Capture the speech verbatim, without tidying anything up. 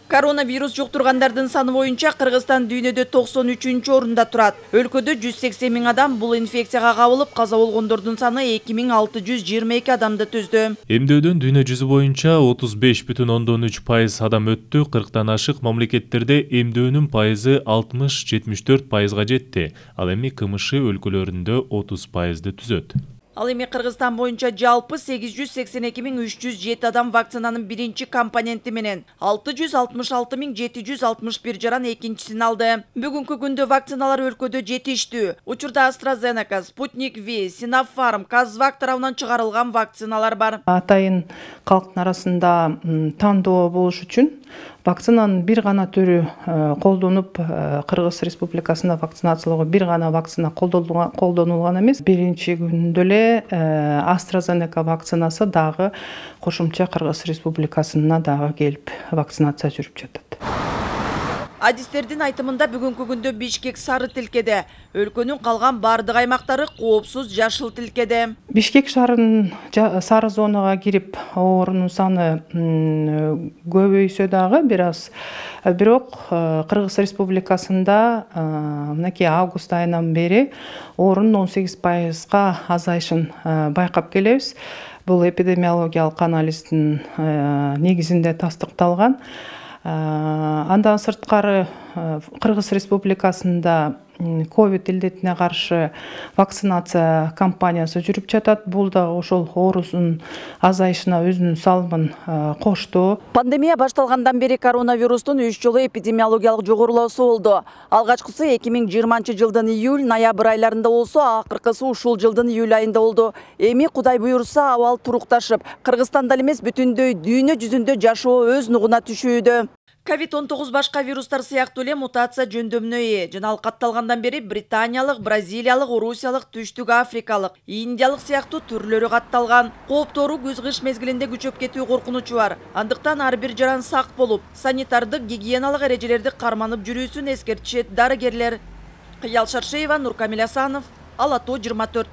Коронавирус жуктургандардын саны боюнча Кыргызстан дүйнөдө токсон үчүнчү орунда турат. Өлкөдө жүз сексен миң адам бул инфекцияга кабылып, каза болгондордун саны эки миң алты жүз жыйырма эки адамды түздү. Эмдөөдөн дүйнө жүзү боюнча отуз беш бүтүн ондон үч пайыз адам өттү. кырктан ашык мамлекеттерде эмдөөнүн пайызы алтымыш жетимиш төрт пайызга жетти. Ал эми КМШ өлкөлөрүндө отуз пайызды түзөт. Ал эми Кыргызстан боюнча жалпы сегиз жүз сексен эки миң үч жүз жети адам вакцинанын биринчи компоненти менен алты жүз алтымыш алты миң жети жүз алтымыш бир жаран экинчисин алды. Бүгүнкү күндө вакциналар өлкөдө жетиштүү. Учурда AstraZeneca, Sputnik V, Sinopharm, Казвак тарабынан чыгарылган вакциналар бар. Атайын калктын арасында тандоо болуш үчүн вакцинанын бир гана түрү колдонуп, Кыргыз Республикасында вакцинациялоого бир гана вакцина колдонулган эмес. Биринчи күндө эле AstraZeneca вакцинасы дагы кошумча Кыргыз Республикасына дагы келип вакцинация жүрүп жатат. Адистердин айтымында бүгүнкү күндө Бишкек сары тилкеде, өлкөнүн калган бардык аймактары коопсуз жашыл тилкеде. Бишкек шаарынын сары зонага кирип, оорунун саны көбөйсө дагы бир аз, бирок Кыргыз Республикасында мынакей август айынан бери оорунун он сегиз пайызга азайышын байкап келебиз. Бул эпидемиологиялык анализдин негизинде тастыкталган. Андан сырткары Кыргыз Республикасында ковид илдетине каршы вакцинация кампаниясы жүрүп жатат. Бул да ошол оорунун азайышына өзүнүн салымын кошту. Пандемия башталгандан бери коронавирустун үч жолу эпидемиологиялык жогорулоосу болду. Алгачкысы эки миң жыйырманчы жылдын июль-ноябрь айларында болсо, акыркысы ушул жылдын июль айында болду. Эми Кудай буйрса абал турукташып, Кыргызстанда эмес бүтүндөй дүйнө жүзүндө жашоо өз нугуна түшүүдө. ковид он тогуз башка вирустар сыяктуу эле мутация жөндөмүнө ээ. Жана ал катталгандан бери британиялык, бразилиялык, орусиялык, түштүк африкалык, индиялык сыяктуу түрлөрү катталган. Кооптору күз-кыш мезгилинде күчөп кетүү коркунучу бар. Андыктан ар бир жаран сак болуп, санитардык, гигиеналык эрежелерди карманып жүрүүсүн эскертишет дарыгерлер. Кыял Шаршеева, Нуркамил Асанов, Ала тоо жыйырма төрт.